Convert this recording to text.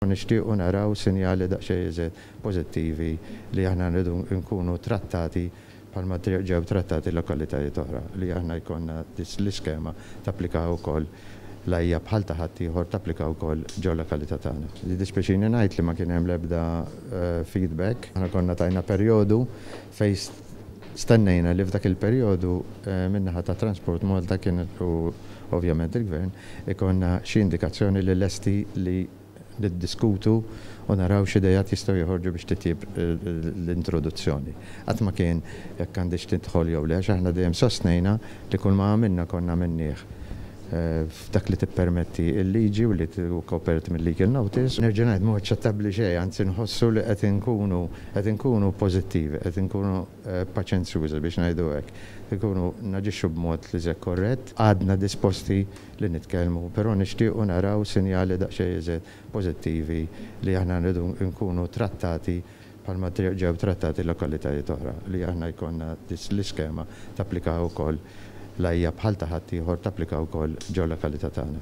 Nixtiequ naraw sinjali daqsxejn iżjed pożittivi li aħna rridu nkunu trattati bħalma ġew trattati lokalitajiet oħra, li aħna jkollna l-iskema tapplika wkoll la hija bħal ta' ħaddieħor tapplika wkoll ġo lokalità tagħna. Jiddispjaċini ngħid li ma kien hemm l-ebda feedback. Aħna konna tajna perjodu fejn stennejna li f'dak il-perjodu min-naħa ta' Transport Malta kien u ovvjament il-Gvern ikollna xi indikazzjoni li lesti li niddiskutu u naraw x'ideat jistgħu joħorġu biex titjib l-introduzzjoni. Qatt ma kien jekk għandix tidħol jew le, għax aħna dejjem sostnejna li kull ma għamilna konna għamilnieh f'dak li tippermetti l-liġi u li hu kopert mill-legal notice. Nerġa' ngħid mhu aċċettabbli xejn, anzi nħossu li qed inkunu qed inkunu pożittivi, qed inkunu paċenzjużi biex ngħidu hekk. Inkunu naġixxu b'mod li żek korrett, għadna disposti li nitkellmu, però nixtiequ naraw sinjali daqsxejn iżjed pożittivi li aħna rridu nkunu trattati bħalma ġew trattati lokalitajiet oħra, li aħna jkollna l-iskema tapplika wkoll la hija bħal ta' ħaddieħor tapplika wkoll ġo lokalità tagħna.